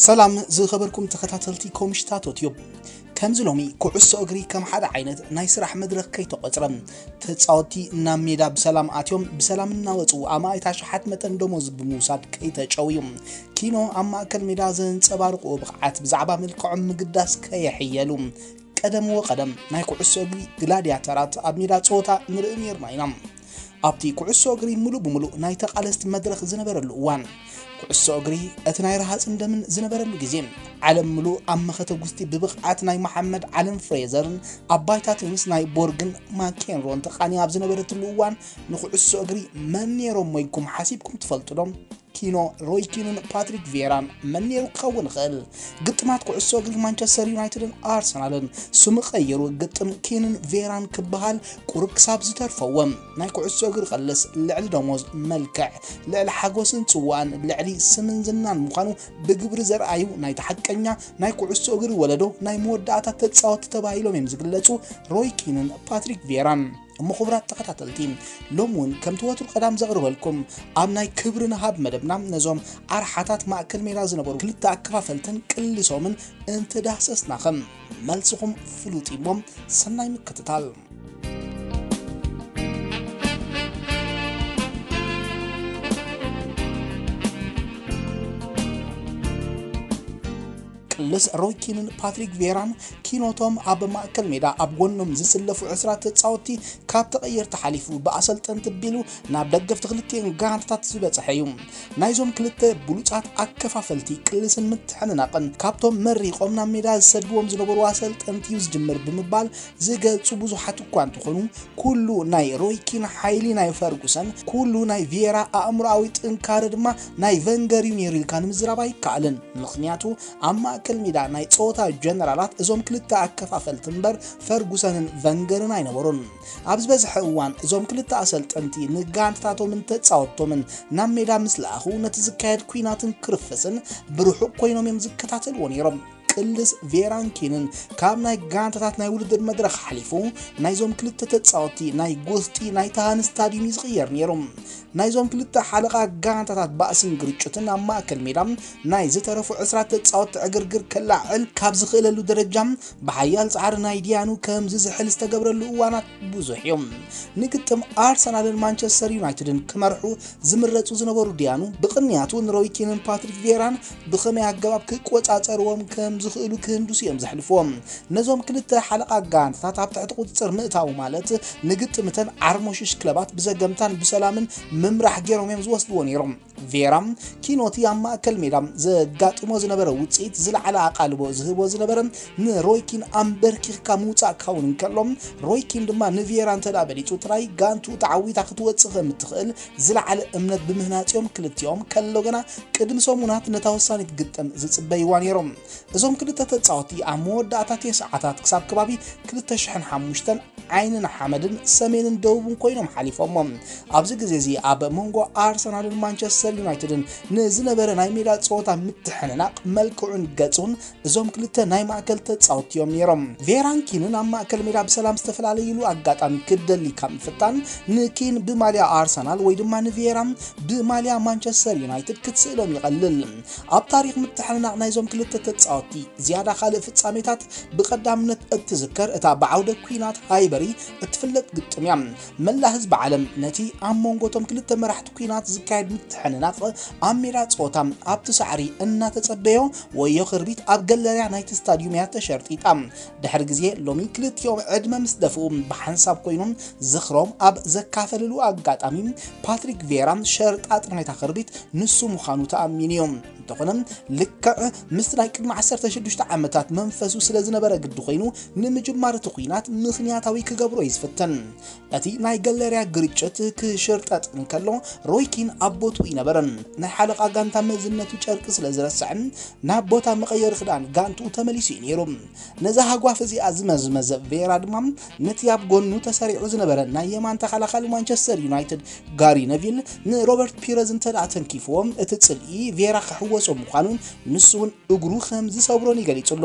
ሰላም ዝኸበርኩም ተኸታተልቲ ኮምሽታቶ ቲዩብ። ከምዚ ሎሚ ኩዕሶ እግሪ ከም ሓደ ዓይነት ናይ ስራሕ መድረኽ ከይተቖጽረ፣ ተጻወትቲ ናብ ሜዳ ብሰላም ኣትዮም ብሰላም እናወጹ ኣማኢት ኣሽሓት መጠን ደሞዝ ብምውሳድ ከይተጨውዩ፣ ኪኖ ኣብ ማእከል ሜዳ ዘንጸባርቕዎ ብቕዓት ብዛዕባ መልክዖም ምግዳስ ከየሕየሉ፣ ቀደም ወቀደም ናይ ኩዕሶ እግሪ ግላድያተራት ኣብ ሜዳ ጸወታ ንርኢ ነይርና ኢና። ኣብቲ ኩዕሶ እግሪ ምሉእ ብምሉእ ናይ ተቓለስቲ መድረኽ ዝነበረሉ እዋን፣ ኩዕሶ እግሪ እቲ ናይ ረሃጽን ደምን ዝነበረሉ ግዜ፣ ዓለም ምሉእ ኣብ መኸተ ጉስጢ ብብቕዓት ናይ መሓመድ ዓለም ፍሬዘርን ኣባይታ ቴኒስ ናይ ቦርግን ማኬንሮን ተቓንያ ኣብ ዝነበረትሉ እዋን፣ ንኩዕሶ እግሪ መን ነይሮሞ ኢልኩም ሓሲብኩም ትፈልጡ ዶ? ኪኖ፣ ሮይ ኪንን ፓትሪክ ቬራን መን ነይሩ ክኸውን ይኽእል? ግጥማት ኩዕሶ እግሪ ማንቸስተር ዩናይትድን ኣርሰናልን ስሙ ቀይሩ ግጥም ኪንን ቬራን ክበሃል ቁሩብ ክሳብ ዝተርፈዎ። ናይ ኩዕሶ እግሪ ቀልስ ልዕሊ ደሞዝ፣ መልክዕ፣ ልዕሊ ሓጎስን ጽዋእን፣ ልዕሊ ስምን ዝናን ምዃኑ ብግብሪ ዘርኣዩ ናይቲ ሓቀኛ ናይ ኩዕሶ እግሪ ወለዶ ናይ መወዳእታ ተጻወትቲ ተባሂሎም እዮም ዝግለጹ ሮይ ኪንን ፓትሪክ ቬራን። እሞ ክቡራት ተኸታተልቲ፣ ሎም እውን ከምቲ ወትሩ ቀዳም ዘቕርበልኩም ኣብ ናይ ክብሪ ንሃብ መደብና ነዞም ኣርሓታት ማእከል ሜዳ ዝነበሩ ክልተ ኣከፋፈልትን ቅልሶምን እንተዳህሰስናኸም፣ መልስኹም ፍሉጥ እዩ እሞ ሰናይ ምክትታል። ቅልስ ሮይ ኪንን ፓትሪክ ቬራን ኪኖቶም ኣብ ማእከል ሜዳ ኣብ ጎኖም ዝስለፉ ዕስራ ተጻወትቲ ካብ ተቐየርቲ ሓሊፉ ብኣሰልጠንቲ ቢሉ ናብ ደገፍቲ ክልቲኤን ጋንታታት ዝበጽሐ እዩ። ናይዞም ክልተ ብሉጻት ኣከፋፈልቲ ቅልስን ምትሕንናቕን ካብቶም መሪቖም ናብ ሜዳ ዝሰድዎም ዝነበሩ ኣሰልጠንቲ እዩ ዝጅምር ብምባል ዝገልጹ ብዙሓት እኳ እንተኾኑ፣ ኩሉ ናይ ሮይ ኪን ሓይሊ ናይ ፈርጉሰን፣ ኩሉ ናይ ቪየራ ኣእምሮኣዊ ጥንካረ ድማ ናይ ቨንገር እዩ ነይሩ ኢልካ ንምዝራብ ኣይከኣልን። ምኽንያቱ ኣብ ማእከል ሜዳ ናይ ጸወታ ጀነራላት እዞም ክልተ ኣከፋፈልቲ እምበር ፈርጉሰንን ቨንገርን ኣይነበሩን። ኣብ ዝበዝሐ እዋን እዞም ክልተ ኣሰልጠንቲ ንጋንታታቶምን ተጻወትቶምን ናብ ሜዳ ምስ ለኣኹ ነቲ ዝካየድ ኲናትን ክርፍስን ብርሑቕ ኮይኖም እዮም ዝከታተልዎ ነይሮም። ቅልስ ቬራን ኪንን ካብ ናይ ጋንታታት ናይ ውድድር መድረኽ ሓሊፉ ናይዞም ክልተ ተጻወትቲ ናይ ጎስጢ ናይ ተሃን ስታድዩም እዩ ዝቕየር ነይሩ። ናይዞም ክልተ ሓለቓ ጋንታታት ባእስን ግርጭትን ኣብ ማእከል ሜዳ ናይ ዝተረፉ ዕስራ ተጻወትቲ ዕግርግር ከላዕል ካብ ዝኽእለሉ ደረጃ ብሓያል ጻዕሪ ናይ ዲያኑ ከም ዝዝሕል ዝተገብረሉ እዋናት ብዙሕ እዮም። ንግጥም ኣርሰናልን ማንቸስተር ዩናይትድን ክመርሑ ዝምረጹ ዝነበሩ ዲያኑ ብቕንያቱ ንሮይ ኪንን ፓትሪክ ቬራን ብኸመይ ኣገባብ ክቆጻጸርዎም ከም ዝኽእሉ ክህንድሱ እዮም ዘሕልፍዎም። ነዞም ክልተ ሓለቓ ጋንታታት ኣብ ትሕቲ ቁጽጽር ምእታው ማለት ንግጥምተን ዓርሞሽሽ ክለባት ብዘገምታን ብሰላምን ምምራሕ ገይሮም እዮም ዝወስድዎ ነይሮም። ቬራ ኪኖቲ ኣብ ማእከል ሜዳ ዘጋጥሞ ዝነበረ ውጽኢት ዝለዓለ ኣቓልቦ ዝህቦ ዝነበረ ንሮይኪን ኣንበርኪኽካ ምውጻእ ክኸውን እንከሎ፣ ሮይኪን ድማ ንቬራ እንተ ደኣ በሊጹ ጥራይ ጋንቱ ተዓዊታ ክትወጽእ ከም እትኽእል ዝለዓለ እምነት ብምህናጽ እዮም ክልቲኦም ከሎ ገና ቅድሚ ሰሙናት ነታ ወሳኒት ግጥም ዝጽበይዋ ነይሮም። እዞም ክልተ ተጻወቲ ኣብ መወዳእታ ተስዓታት ክሳብ ከባቢ ክልተ ሽሕን ሓሙሽተን ዓይንን ሓመድን ሰሜንን ደቡብን ኮይኖም ሓሊፎሞ። ኣብዚ ግዜ እዚ ኣብ መንጎ ኣርሰናልን ማንቸስተር ዩናይትድን ንዝነበረ ናይ ሜዳ ጸወታ ምትሕንናቕ መልክዑን ገጹን እዞም ክልተ ናይ ማእከል ተጻወቲ እዮም ነይሮም። ቬራን ኪንን ኣብ ማእከል ሜዳ ብሰላም ዝተፈላለይሉ ኣጋጣሚ ክደሊ ካብ ምፍታን ንኪን ብማልያ ኣርሰናል ወይ ድማ ንቬራ ብማልያ ማንቸስተር ዩናይትድ ክትስእሎም ይቐልል። ኣብ ታሪኽ ምትሕንናቕ ናይዞም ክልተ ተጻወቲ ዝያዳ ካልእ ፍጻሜታት ብቐዳምነት እትዝከር እታ ብዓውደ ኲናት ሃይበሪ እትፍለጥ ግጥም እያ። መላእ ህዝቢ ዓለም ነቲ ኣብ መንጎ እቶም ክልተ መራሕቲ ኲናት ዝካየድ ምትሕንናቕ ኣብ ሜዳ ጸወታ ኣብቲ ሳዕሪ እናተጸበዮ ወዮ ክርቢት ኣብ ገለርያ ናይቲ ስታድዩም እያ ተሸርጢጣ። ድሕሪ ግዜ ሎሚ ክልቲኦም ዕድመ ምስ ደፍኡ ብሓንሳብ ኮይኖም ዝኽሮም ኣብ ዘካፈልሉ ኣጋጣሚ ፓትሪክ ቬራ ሸርጣጥ ናይታ ክርቢት ንሱ ምዃኑ ተኣሚኑ እዩ። እንተኾነ ልክዕ ምስቲ ናይ ቅድሚ ዓሰርተ ሽዱሽተ ዓመታት መንፈሱ ስለ ዝነበረ ግዲ ኮይኑ ንምጅማር እቲ ኲናት ምኽንያታዊ ክገብሮ እዩ ዝፍትን። እቲ ናይ ገለርያ ግርጭት ክሽርጠጥ እንከሎ ሮይኪን ኣብ ቦትኡ ይነበረ። ናይ ሓለቓ ጋንታ መዝነቱ ጨርቂ ስለ ዝረስዕን ናብ ቦታ መቐየሪ ክዳን ጋንትኡ ተመሊሱ እዩ ነይሩ። ነዛ ሃጓፍ እዚኣ ዝመዝመዘ ቬራ ድማ ነቲ ኣብ ጎኑ ተሰሪዑ ዝነበረ ናይ የማን ተኸላኻሊ ማንቸስተር ዩናይትድ ጋሪ ነቪል ንሮበርት ፒረዝ እንተ ደኣ ተንኪፍዎ እቲ ጽልኢ ቬራ ክሕው ወሶ ምዃኑን ንሱ እውን እግሩ ከም ዝሰብሮን ይገሊጹሉ።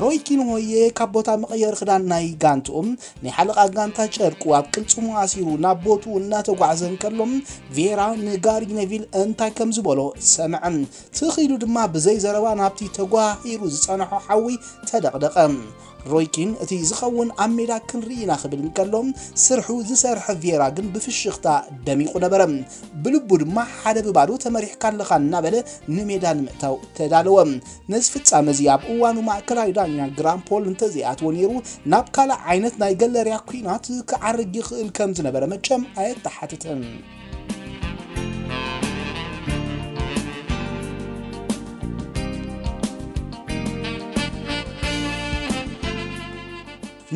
ሮይ ኪን ሆየ ካብ ቦታ መቐየሪ ክዳን ናይ ጋንትኡ ናይ ሓለቓ ጋንታ ጨርቁ ኣብ ቅልጽሙ ኣሲሩ ናብ ቦትኡ እናተጓዕዘ እንከሎ፣ ቬራ ንጋሪ ነቪል እንታይ ከም ዝበሎ ሰምዐ። ትኺሉ ድማ ብዘይ ዘረባ ናብቲ ተጓሂሩ ዝጸንሖ ሓዊ ተደቕደቐ። ሮይ ኪን እቲ ዝኸውን ኣብ ሜዳ ክንርኢ ኢና ክብል እንከሎ፣ ስርሑ ዝሰርሐ ቬራ ግን ብፍሽኽታ ደሚቑ ነበረ። ብልቡ ድማ ሓደ ብባዶ ተመሪሕካ ኣለኻ እናበለ ንሜዳ ንምእታው ተዳለወ። ነዚ ፍጻመ እዚ ኣብ እዋኑ ማእከላይ ዳኛ ግራም ፖል እንተዘይኣትዎ ነይሩ፣ ናብ ካልእ ዓይነት ናይ ገለርያ ኲናት ክዓርግ ይኽእል ከም ዝነበረ መቸም ኣየተሓትትን።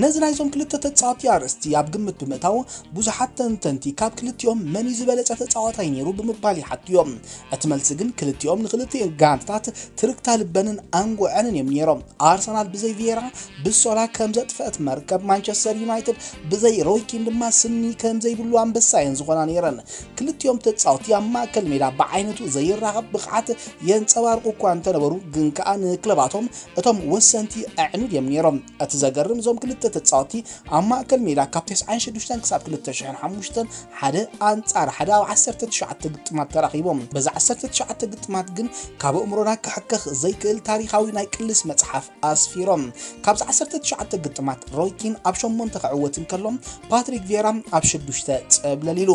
ነዚ ናይዞም ክልተ ተጻወትቲ ኣርእስቲ ኣብ ግምት ብምእታው፣ ብዙሓት ተንተንቲ ካብ ክልቲኦም መን እዩ ዝበለጸ ተጻዋታይ ነይሩ ብምባል ይሓቱ እዮም። እቲ መልሲ ግን ክልቲኦም ንክልቲኦም ጋንታታት ትርክታ ልበንን ኣንጎዐንን እዮም ነይሮም። ኣርሰናል ብዘይ ቪየራ ብሶላ ከም ዘጥፈአት መርከብ፣ ማንቸስተር ዩናይትድ ብዘይ ሮይ ኪን ድማ ስኒ ከም ዘይብሉ ኣንበሳ እየን ዝኾና ነይረን። ክልቲኦም ተጻወትቲ ኣብ ማእከል ሜዳ ብዓይነቱ ዘይራኸብ ብቕዓት የንጸባርቑ እኳ እንተነበሩ፣ ግን ከኣ ንክለባቶም እቶም ወሰንቲ ኣዕኑድ እዮም ነይሮም። እቲ ዘገርም፣ እዞም ክልተ ተጻወትቲ ኣብ ማእከል ሜዳ ካብ ተስዓን ሽዱሽተን ክሳብ ክልተ ሽሕን ሓሙሽተን ሓደ ኣንጻር ሓደ ኣብ ዓሰርተ ትሽዓተ ግጥማት ተራኺቦም። በዚ ዓሰርተ ትሽዓተ ግጥማት ግን ካብ ኣእምሮና ክሕከኽ ዘይክእል ታሪኻዊ ናይ ቅልስ መጽሓፍ ኣስፊሮም። ካብዚ ዓሰርተ ትሽዓተ ግጥማት ሮይ ኪን ኣብ ሸሞንተ ክዕወት እንከሎ፣ ፓትሪክ ቬራ ኣብ ሽዱሽተ ጸብለል ኢሉ።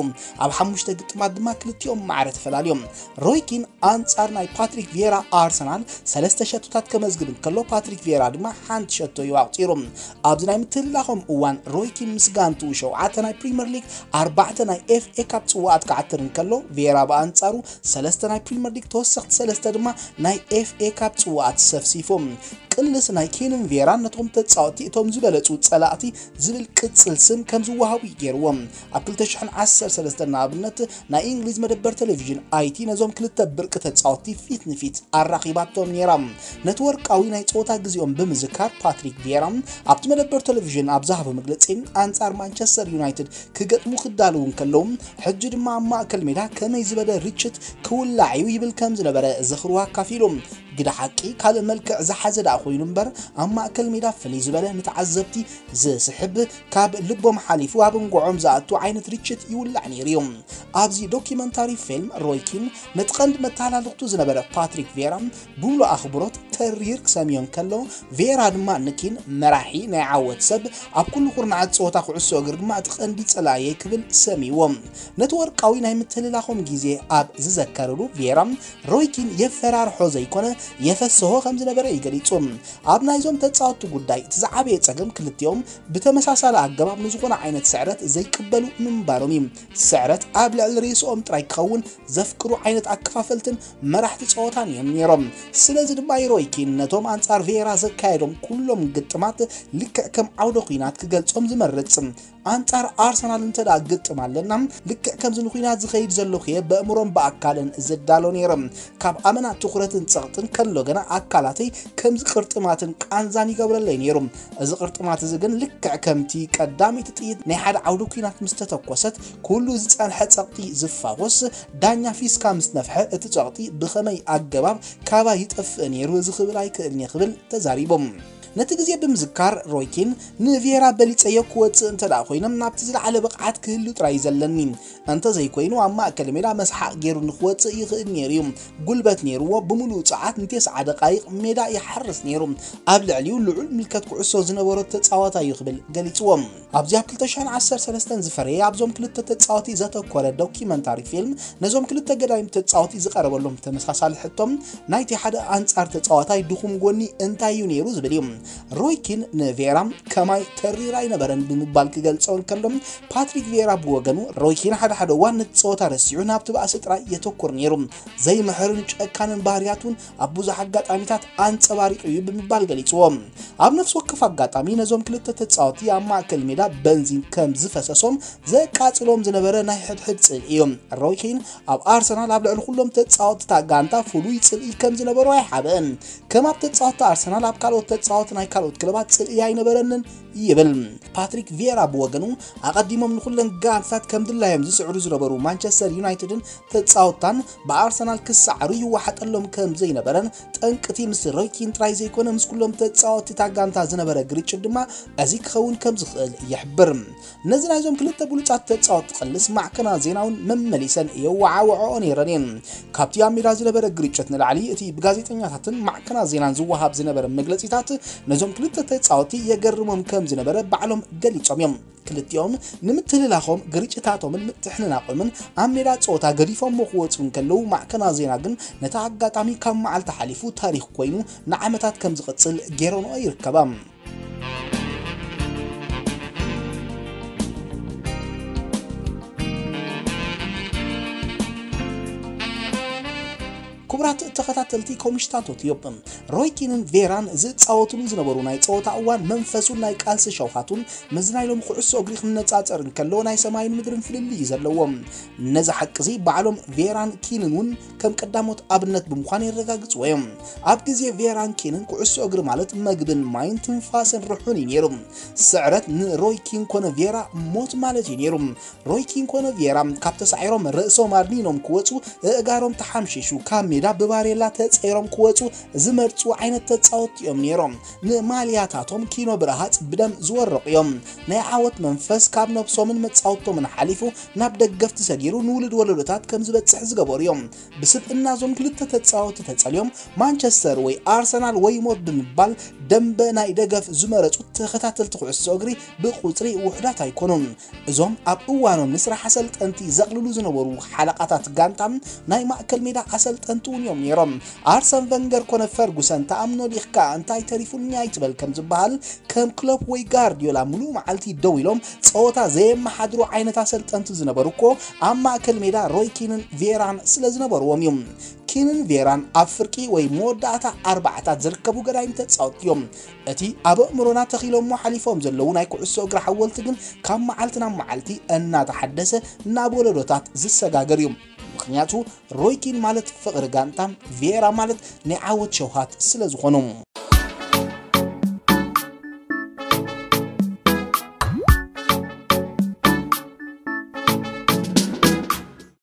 ኣብ ሓሙሽተ ግጥማት ድማ ክልቲኦም ማዕረ ተፈላልዮም። ሮይ ኪን ኣንጻር ናይ ፓትሪክ ቪየራ ኣርሰናል ሰለስተ ሸቶታት ከመዝግብ እንከሎ፣ ፓትሪክ ቪየራ ድማ ሓንቲ ሸቶ እዩ ኣቑጺሩ። ኣብዚ ናይ ምትህልላኾም እዋን ሮይ ኪን ምስ ጋንትኡ ሸውዓተ ናይ ፕሪምየር ሊግ፣ ኣርባዕተ ናይ ኤፍ ኤ ካፕ ጽዋኣት ክዓትር እንከሎ፣ ቪየራ ብኣንጻሩ ሰለስተ ናይ ፕሪምየር ሊግ፣ ተወሰኽቲ ሰለስተ ድማ ናይ ኤፍ ኤ ካፕ ጽዋኣት ሰፍሲፉ። ቅልስ ናይ ኪንን ቪየራን ነቶም ተጻወትቲ እቶም ዝበለጹ ጸላእቲ ዝብል ቅጽል ስም ከም ዝወሃቡ እዩ ገይርዎም። ኣብ ክልተ ሽሕን ዓሰርተ ሰለስተን ንኣብነት ናይ እንግሊዝ መደበር ቴሌቪዥን ኣይቲ ነዞም ክልተ ብርቂ ተጻወትቲ ፊት ንፊት ኣራኺባቶም ነይራ። ነቲ ወርቃዊ ናይ ጸወታ ግዜኦም ብምዝካር ፓትሪክ ቪየራ ኣብቲ መደበር ቴሌቪዥን ኣብ ዝሃቦ መግለጺ፣ ኣንጻር ማንቸስተር ዩናይትድ ክገጥሙ ክዳለዉ እንከለዉ፣ ሕጂ ድማ ኣብ ማእከል ሜዳ ከመይ ዝበለ ርችት ክውላዕ እዩ ይብል ከም ዝነበረ ዝኽሩ ኣካፊሉ። ግደ ሓቂ ካልእ መልክዕ ዝሓዘ ደኣ ኮይኑ እምበር፣ ኣብ ማእከል ሜዳ ፍልይ ዝበለ ንተዓዘብቲ ዝስሕብ፣ ካብ ልቦም ሓሊፉ ኣብ እንጎዖም ዝኣቱ ዓይነት ርችት ይውላዕ ነይሩ እዩ። ኣብዚ ዶኪመንታሪ ፊልም ሮይ ኪን ነቲ ቀንዲ መተሃላልኽቱ ዝነበረ ፓትሪክ ቬራ ብምሉእ ኣኽብሮት ተሪር ክሰምዮ እንከሎ፣ ቬራ ድማ ንኪን መራሒ ናይ ዓወት ሰብ፣ ኣብ ኩሉ ኩርናዓት ጸወታ ኩዕሶ እግሪ ድማ እቲ ቀንዲ ጸላእየይ ክብል ሰምይዎ። ነቲ ወርቃዊ ናይ ምትህልላኾም ግዜ ኣብ ዝዘከረሉ ቬራ ሮይ ኪን የፈራርሖ ዘይኮነ የፈስሆ ከም ዝነበረ እዩ ገሊጹ። ኣብ ናይዞም ተጻወትቲ ጉዳይ እቲ ዝዓበየ ጸገም ክልቲኦም ብተመሳሳሊ ኣገባብ ንዝኾነ ዓይነት ስዕረት ዘይቅበሉ ምንባሮም እዩ። ስዕረት ኣብ ልዕሊ ርእስኦም ጥራይ ክኸውን ዘፍቅሩ ዓይነት ኣከፋፈልትን መራሕቲ ጸወታን እዮም ነይሮም። ስለዚ ድማ ሮይ ኪን ነቶም ኣንጻር ቬራ ዘካየዶም ኩሎም ግጥማት ልክዕ ከም ዓውደ ኲናት ክገልጾም ዝመርጽ። ኣንጻር ኣርሰናል እንተ ደኣ ግጥም ኣለና፣ ልክዕ ከምዚ ንኲናት ዝኸይድ ዘለኹ እየ በእምሮን ብኣካልን ዝዳሎ ነይረ። ካብ ኣመና ትኹረትን ጸቕጥን ከሎ ገና ኣካላተይ ከምዚ ቅርጥማትን ቃንዛን ይገብረለይ ነይሩ። እዚ ቅርጥማት እዚ ግን ልክዕ ከምቲ ቀዳመይቲ ጥይት ናይ ሓደ ዓውዲ ኲናት ምስ ተተኮሰት፣ ኩሉ ዝጸንሐ ጸቕጢ ዝፋወስ፣ ዳኛ ፊስካ ምስ ነፍሐ እቲ ጸቕጢ ብኸመይ ኣገባብ ካባይ ይጠፍእ ነይሩ እዚ ክብል ኣይክእልን እየ ክብል ተዛሪቦም። ነቲ ግዜ ብምዝካር ሮይ ኪን ንቪየራ በሊጸዮ ክወጽእ እንተ ደኣ ኮይነ ናብቲ ዝለዓለ ብቕዓት ክህሉ ጥራይ እዩ ዘለኒ። እንተ ዘይኮይኑ ኣብ ማእከል ሜዳ መስሓቕ ገይሩ ንክወጽእ ይኽእል ነይሩ እዩ። ጉልበት ነይርዎ ብምሉኡ ጸዓት ንቴስዓ ደቃይቕ ሜዳ ይሓርስ ነይሩ። ኣብ ልዕሊኡ ልዑል ምልከት ኩዕሶ ዝነበሮ ተጻዋታይ እዩ ክብል ገሊጽዎ። ኣብዚ ኣብ ክልተ ሽሕን ዓሰርተ ሰለስተን ዝፈረየ ኣብዞም ክልተ ተጻወቲ ዘተኮረ ዶኪመንታሪ ፊልም ነዞም ክልተ ገዳይም ተጻወቲ ዝቐረበሎም ተመሳሳሊ ሕቶም ናይቲ ሓደ ኣንጻር ተጻዋታይ ድኹም ጎኒ እንታይ እዩ ነይሩ ዝብል እዩ። ሮይ ኪን ንቬራ ከማይ ተሪር ኣይነበረን ብምባል ክገልጾ እንከሎ ፓትሪክ ቬራ ብወገኑ ሮይ ኪን ሓደ ሓደ እዋን ነቲ ጸወታ ረሲዑ ናብቲ ባእሲ ጥራይ የተኩር ነይሩ። ዘይምሕርን ጨካንን ባህርያት እውን ኣብ ብዙሕ ኣጋጣሚታት ኣንጸባሪቑ እዩ ብምባል ገሊጽዎ። ኣብ ነፍሲ ወከፍ ኣጋጣሚ ነዞም ክልተ ተጻወቲ ኣብ ማእከል ሜዳ በንዚን ከም ዝፈሰሶም ዘቃጽሎም ዝነበረ ናይ ሕድሕድ ጽልኢ እዩ። ሮይ ኪን ኣብ ኣርሰናል ኣብ ልዕሊ ኩሎም ተጻወትታ ጋንታ ፍሉይ ጽልኢ ከም ዝነበሮ ኣይሓብእን። ከም ኣብ ተጻወትቲ ኣርሰናል ኣብ ካልኦት ተጻወቲ ናይ ካልኦት ክለባት ጽልኢ ኣይነበረንን ይብል። ፓትሪክ ቪየራ ብወገኑ፣ ኣቐዲሞም ንኹለን ጋንታት ከም ድላዮም ዝስዕሩ ዝነበሩ ማንቸስተር ዩናይትድን ተጻወትታን ብኣርሰናል ክሰዓሩ ይወሓጠሎም ከም ዘይነበረን፣ ጠንቅቲ ምስ ሮይ ኪን ጥራይ ዘይኮነ ምስ ኩሎም ተጻወትቲ እታ ጋንታ ዝነበረ ግርጭት ድማ እዚ ክኸውን ከም ዝኽእል ይሕብር። ነዚ ናይዞም ክልተ ብሉጻት ተጻወትቲ ቅልስ ማዕከናት ዜና እውን መመሊሰን የወዓውዕኦ ነይረን እየን። ካብቲ ኣብ ሜዳ ዝነበረ ግርጭት ንላዕሊ፣ እቲ ብጋዜጠኛታትን ማዕከናት ዜናን ዝወሃብ ዝነበረ መግለጺታት ነዞም ክልተ ተጻወትቲ የገርሞም ከም ዝነበረ ባዕሎም ገሊጾም እዮም። ክልቲኦም ንምትልላኾም፣ ግርጭታቶምን ምትሕንናቖምን ኣብ ሜዳ ጸወታ ገዲፎሞ ክወጹ እንከለዉ፣ ማዕከናት ዜና ግን ነቲ ኣጋጣሚ ካብ መዓልቲ ሓሊፉ ታሪኽ ኮይኑ ንዓመታት ከም ዝቕጽል ገይረንኦ ይርከባ። ክቡራት ተኸታተልቲ ኮምሽታቶት ዮብ፣ ሮይ ኪንን ቬራን ዝጻወቱሉ ዝነበሩ ናይ ጸወታ እዋን መንፈሱን ናይ ቃልሲ ሸውሃቱን ምስ ናይ ሎሚ ኩዕሶ እግሪ ክነጻጸር እንከሎ ናይ ሰማይን ምድርን ፍልልይ እዩ ዘለዎም። ነዚ ሓቂ እዚ ባዕሎም ቬራን ኪንን እውን ከም ቀዳሞት ኣብነት ብምዃን የረጋግጽዎ እዮም። ኣብ ግዜ ቬራን ኪንን ኩዕሶ እግሪ ማለት መግብን ማይን ትንፋስን ርሑን እዩ ነይሩ። ስዕረት ንሮይ ኪን ኮነ ቬራ ሞት ማለት እዩ ነይሩ። ሮይ ኪን ኮነ ቪየራ ካብ ተሳዒሮም ርእሶም ኣድኒኖም ክወጹ፣ እእጋሮም ተሓምሺሹ ካብ ሜዳ ብባሬላ ተጸይሮም ክወጹ ዝመርጹ ዓይነት ተጻወትቲ እዮም ነይሮም። ንማልያታቶም ኪኖ ብረሃጽ ብደም ዝወረቑ እዮም። ናይ ዓወት መንፈስ ካብ ነብሶምን መጻወቶምን ሓሊፉ ናብ ደገፍቲ ሰጊሩ ንውሉድ ወለዶታት ከም ዝበጽሕ ዝገበሩ እዮም። ብስብእና እዞም ክልተ ተጻወትቲ ተጸልዮም ማንቸስተር ወይ ኣርሰናል ወይ ሞት ብምባል ደንበ ናይ ደገፍ ዝመረጹ ተኸታተልቲ ኩዕሶ እግሪ ብቁጽሪ ውሑዳት ኣይኮኑን። እዞም ኣብ እዋኖም ንስራሕ ኣሰልጠንቲ ዘቕልሉ ዝነበሩ ሓለቓታት ጋንታ ናይ ማእከል ሜዳ ኣሰልጠንቲ እውን እዮም ነይሮም። ኣርሰን ቨንገር ኮነ ፈርጉሰን ተኣምኖ ዲኽካ እንታይ ተሪፉኒ ኣይትበል ከም ዝበሃል ከም ክሎፕ ወይ ጋርዲዮላ ምሉእ መዓልቲ ደው ኢሎም ጸወታ ዘየመሓድሩ ዓይነት ኣሰልጠንቲ ዝነበሩ እኮ ኣብ ማእከል ሜዳ ሮይ ኪንን ቬራን ስለ ዝነበርዎም እዩ። ኪንን ቬራን ኣብ ፍርቂ ወይ መወዳእታ ኣርባዕታት ዝርከቡ ገዳይም ተጻወትቲ እዮም። እቲ ኣብ ኣእምሮና ተኺሎሞ ሓሊፎም ዘለዉ ናይ ኩዕሶ እግሪ ሓወልቲ ግን ካብ መዓልቲ ናብ መዓልቲ እናተሓደሰ ናብ ወለዶታት ዝሰጋገር እዩ። ምኽንያቱ ሮይ ኪን ማለት ፍቕሪ ጋንታ፣ ቪየራ ማለት ናይ ዓወት ሸውሃት ስለ ዝኾኑ።